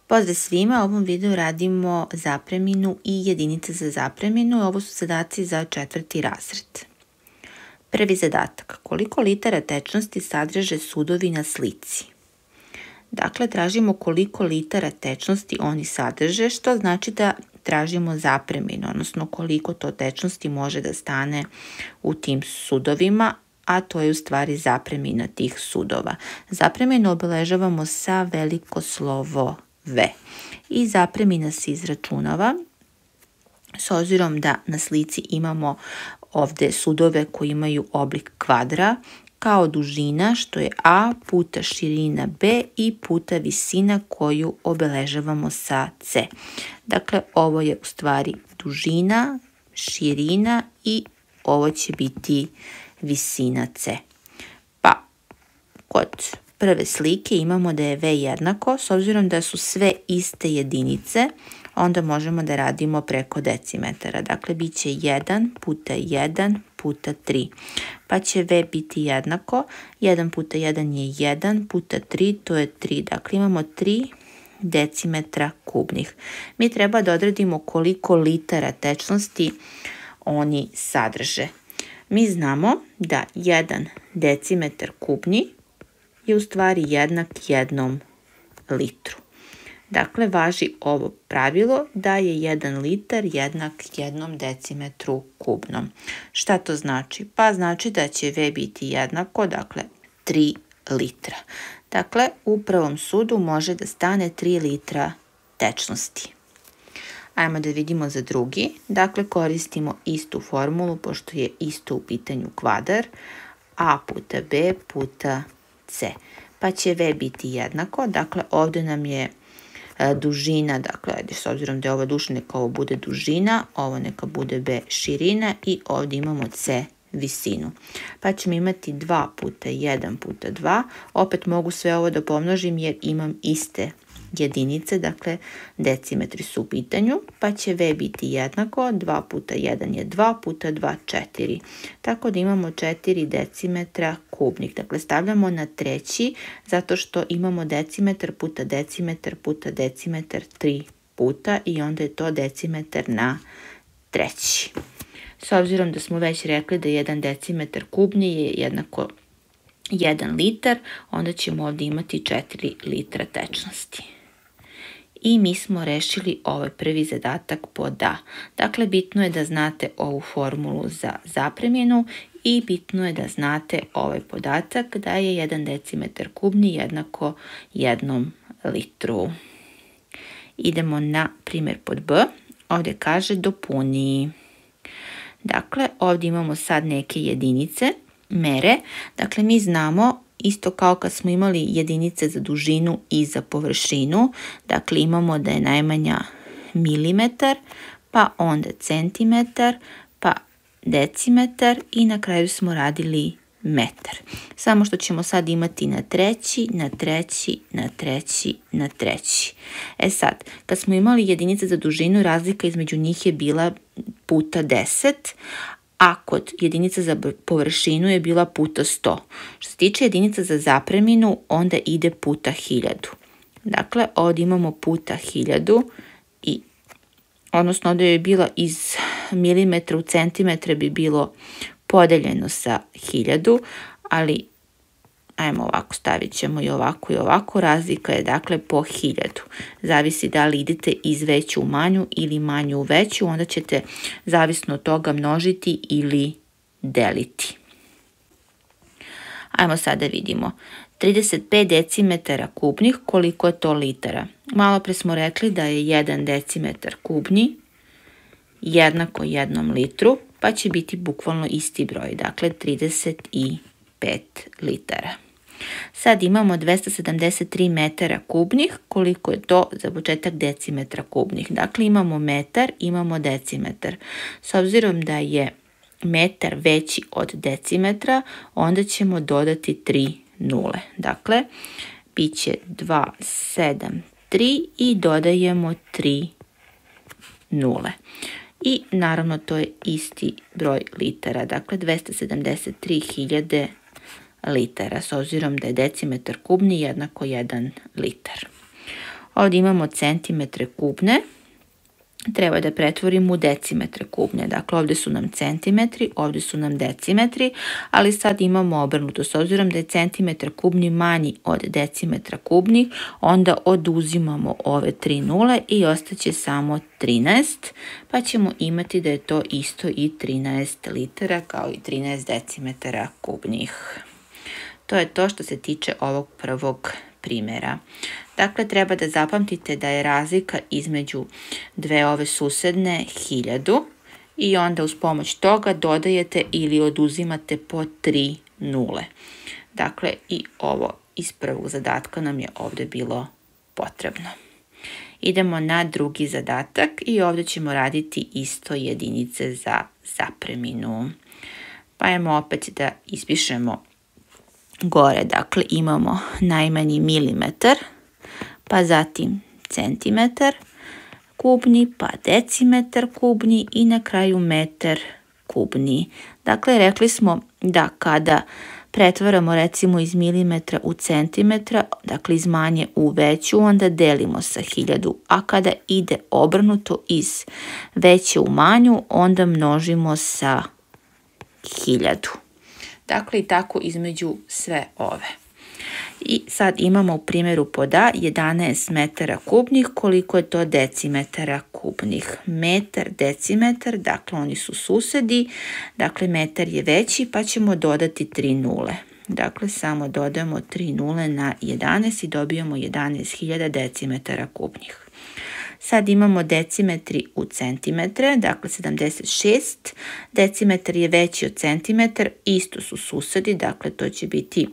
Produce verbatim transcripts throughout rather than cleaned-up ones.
Pozdrav svima, u ovom videu radimo zapreminu i jedinice za zapreminu. Ovo su zadaci za četvrti razred. Prvi zadatak. Koliko litara tečnosti sadrže sudovi na slici? Dakle, tražimo koliko litara tečnosti oni sadrže, što znači da tražimo zapreminu, odnosno koliko to tečnosti može da stane u tim sudovima, a to je u stvari zapremina tih sudova. Zapreminu obeležavamo sa veliko slovo V. I zapremina se izračunava s obzirom da na slici imamo ovde sudove koji imaju oblik kvadra kao dužina, što je A puta širina B i puta visina koju obeležavamo sa C. Dakle, ovo je u stvari dužina, širina i ovo će biti visina C. Pa, kod prve slike imamo da je V jednako, s obzirom da su sve iste jedinice, onda možemo da radimo preko decimetara. Dakle, bit će jedan puta jedan puta tri. Pa će V biti jednako, jedan puta jedan je jedan puta tri, to je tri. Dakle, imamo tri decimetra kubnih. Mi treba da odredimo koliko litara tečnosti oni sadrže. Mi znamo da jedan decimetar kubni je u stvari jednak jednom litru. Dakle, važi ovo pravilo da je jedan litar jednak jednom decimetru kubnom. Šta to znači? Pa znači da će V biti jednako, dakle, tri litra. Dakle, u prvom sudu može da stane tri litra tečnosti. Ajmo da vidimo za drugi. Dakle, koristimo istu formulu, pošto je isto u pitanju kvadar. A puta B puta C. Pa će V biti jednako. Dakle, ovde nam je dužina, dakle, ajde, s obzirom da je ovo dužina, neka ovo bude dužina, ovo neka bude B širina i ovdje imamo C visinu. Pa ćemo imati dva puta jedan puta dva. Opet mogu sve ovo da pomnožim jer imam iste jedinice, dakle decimetri su u pitanju, pa će V biti jednako, dva puta jedan je dva puta dva, četiri. Tako da imamo četiri decimetra kubnih. Dakle, stavljamo na treći, zato što imamo decimetar puta decimetar puta decimetar tri puta i onda je to decimetar na treći. S obzirom da smo već rekli da jedan decimetar kubni je jednako jedan litar, onda ćemo ovdje imati četiri litra tečnosti. I mi smo rešili ovaj prvi zadatak pod A. Dakle, bitno je da znate ovu formulu za zapreminu i bitno je da znate ovaj podatak da je jedan decimetar kubni jednako jednom litru. Idemo na primjer pod B. Ovdje kaže dopuni. Dakle, ovdje imamo sad neke jedinice, mere. Dakle, mi znamo isto kao kad smo imali jedinice za dužinu i za površinu. Dakle, imamo da je najmanja milimetar, pa onda centimetar, pa decimetar i na kraju smo radili metar. Samo što ćemo sad imati na treći, na treći, na treći, na treći. E sad, kad smo imali jedinice za dužinu, razlika između njih je bila puta deset, a kod jedinica za površinu je bila puta sto. Što se tiče jedinica za zapreminu, onda ide puta hiljadu. Dakle, ovdje imamo puta hiljadu, i, odnosno ovdje je bila iz milimetra u centimetre bi bilo podeljeno sa hiljadu, ali ajmo ovako, stavit ćemo i ovako i ovako. Razlika je dakle po hiljadu. Zavisi da li idete iz veću u manju ili manju u veću, onda ćete zavisno od toga množiti ili deliti. Ajmo sada vidimo. trideset pet decimetara kubnih, koliko je to litara? Malo pre smo rekli da je jedan decimetar kubni jednako jednom litru, pa će biti bukvalno isti broj, dakle trideset pet litara. Sad imamo dvesta sedamdeset tri metara kubnih, koliko je to za početak decimetra kubnih. Dakle, imamo metar, imamo decimetar. S obzirom da je metar veći od decimetra, onda ćemo dodati tri nule. Dakle, bit će dva, sedam, tri i dodajemo tri nule. I naravno to je isti broj litara, dakle dvesta sedamdeset tri hiljade litara, s obzirom da je decimetar kubni jednako jedan litar. Ovdje imamo centimetre kubne. Treba da pretvorimo u decimetre kubne. Dakle, ovdje su nam centimetri, ovdje su nam decimetri, ali sad imamo obrnuto. S obzirom da je centimetar kubni manji od decimetra kubnih, onda oduzimamo ove tri nule i ostaće samo trinaest, pa ćemo imati da je to isto i trinaest litara kao i trinaest decimetara kubnih. To je to što se tiče ovog prvog primjera. Dakle, treba da zapamtite da je razlika između dve ove susedne hiljadu i onda uz pomoć toga dodajete ili oduzimate po tri nule. Dakle, i ovo iz prvog zadatka nam je ovdje bilo potrebno. Idemo na drugi zadatak i ovdje ćemo raditi isto jedinice za zapreminu. Pa ajmo opet da ispišemo gore. Dakle, imamo najmanji milimetar, pa zatim centimetar kubni, pa decimetar kubni i na kraju metar kubni. Dakle, rekli smo da kada pretvaramo recimo iz milimetra u centimetra, dakle iz manje u veću, onda delimo sa hiljadu, a kada ide obrnuto iz veće u manju, onda množimo sa hiljadu. Dakle, i tako između sve ove. I sad imamo u primjeru pod A jedanaest metara kubnih, koliko je to decimetara kubnih. Metar, decimetar, dakle oni su susedi, dakle metar je veći pa ćemo dodati tri nule. Dakle, samo dodajemo tri nule na jedanaest i dobijamo jedanaest hiljada decimetara kubnih. Sad imamo decimetri u centimetre, dakle sedamdeset šest, decimetar je veći od centimetar, isto su susedi, dakle to će biti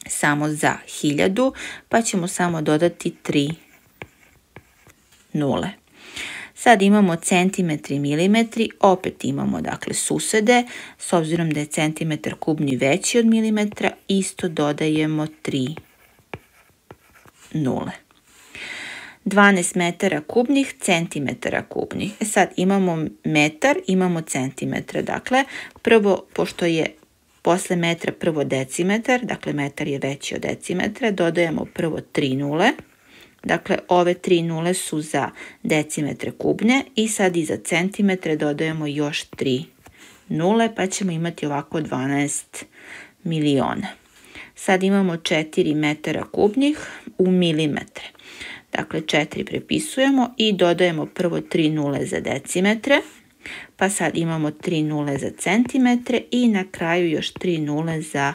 samo za hiljadu, pa ćemo samo dodati tri nule. Sad imamo centimetri i milimetri, opet imamo dakle susede, s obzirom da je centimetar kubni veći od milimetra, isto dodajemo tri nule. dvanaest metara kubnih, centimetara kubnih. E sad imamo metar, imamo centimetra. Dakle, prvo, pošto je posle metra prvo decimetar, dakle metar je veći od decimetra, dodajemo prvo tri nule. Dakle, ove tri nule su za decimetre kubne i sad i za centimetre dodajemo još tri nule, pa ćemo imati ovako dvanaest miliona. Sad imamo četiri metara kubnih u milimetre. Dakle, četiri prepisujemo i dodajemo prvo tri nule za decimetre, pa sad imamo tri nule za centimetre i na kraju još tri nule za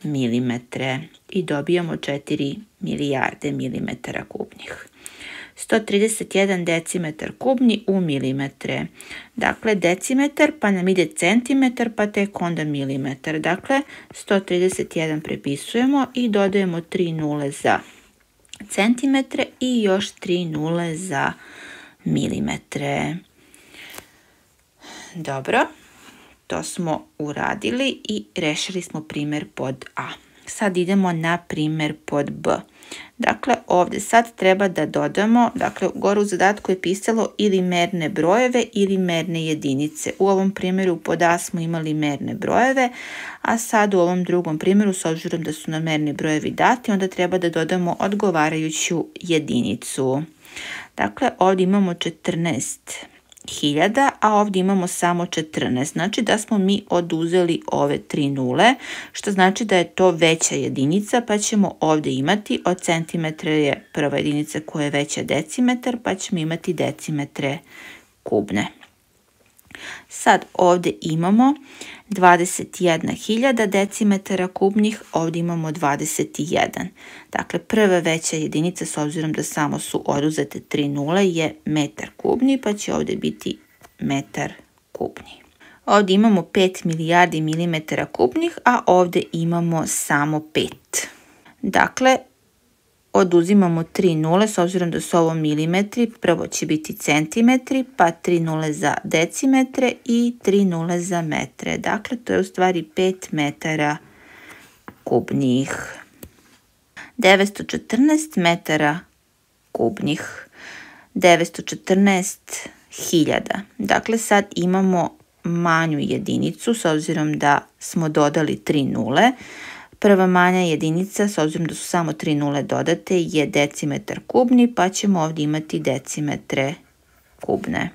milimetre i dobijamo četiri milijarde milimetara kubnih. sto trideset jedan decimetar kubni u milimetre. Dakle, decimetar pa nam ide centimetar pa tek onda milimetar. Dakle, sto trideset jedan prepisujemo i dodajemo tri nule za centimetre i još tri nule za milimetre. Dobro, to smo uradili i rešili smo primjer pod A. Sad idemo na primjer pod B. Dakle, ovdje sad treba da dodamo, dakle, gore u zadatku je pisalo ili merne brojeve ili merne jedinice. U ovom primjeru pod A smo imali merne brojeve, a sad u ovom drugom primjeru, s obzirom da su nam merni brojevi dati, onda treba da dodamo odgovarajuću jedinicu. Dakle, ovdje imamo četrnaest hiljada, a ovdje imamo samo četrnaest. Znači da smo mi oduzeli ove tri nule, što znači da je to veća jedinica, pa ćemo ovdje imati od centimetra je prva jedinica koja je veća decimetar, pa ćemo imati decimetre kubne. Sad ovdje imamo dvadeset jedna hiljada decimetara kubnih, ovdje imamo dvadeset jedan. Dakle, prva veća jedinica, s obzirom da samo su oduzete tri nule, je metar kubni, pa će ovdje biti metar kubni. Ovdje imamo pet milijardi milimetara kubnih, a ovdje imamo samo pet. Dakle, oduzimamo tri nule, s obzirom da su ovo milimetri, prvo će biti centimetri, pa tri nule za decimetre i tri nule za metre. Dakle, to je u stvari pet metara kubnih. devetsto četrnaest metara kubnih. devetsto četrnaest hiljada. Dakle, sad imamo manju jedinicu, s obzirom da smo dodali tri nule. Prva manja jedinica, s obzirom da su samo tri nule dodate, je decimetar kubni, pa ćemo ovdje imati decimetre kubne.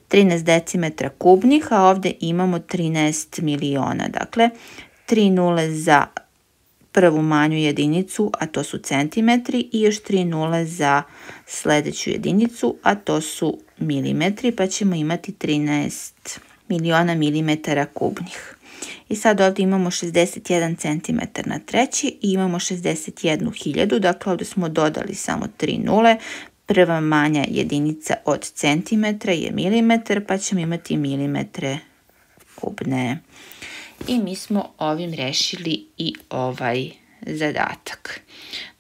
trinaest decimetra kubnih, a ovdje imamo trinaest miliona. Dakle, tri nule za prvu manju jedinicu, a to su centimetri, i još tri nule za sljedeću jedinicu, a to su milimetri, pa ćemo imati trinaest miliona milimetara kubnih. I sad ovdje imamo šezdeset jedan centimetar na treći i imamo šezdeset jednu hiljadu, dakle ovdje smo dodali samo tri nule. Prva manja jedinica od centimetra je milimetar, pa ćemo imati milimetre kubne. I mi smo ovim rešili i ovaj zadatak.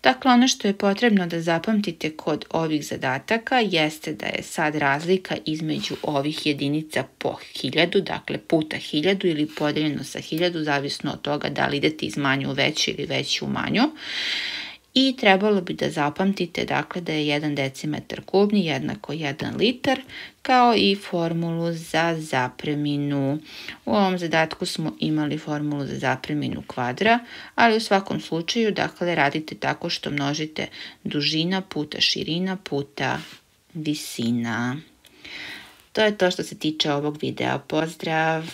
Dakle, ono što je potrebno da zapamtite kod ovih zadataka jeste da je sad razlika između ovih jedinica po hiljadu, dakle puta hiljadu ili podeljeno sa hiljadu, zavisno od toga da li idete iz manje u veću ili veću u manju. I trebalo bi da zapamtite dakle da je jedan decimetar kubni jednako jedan litar, kao i formulu za zapreminu. U ovom zadatku smo imali formulu za zapreminu kvadra, ali u svakom slučaju dakle radite tako što množite dužina puta širina puta visina. To je to što se tiče ovog videa. Pozdrav!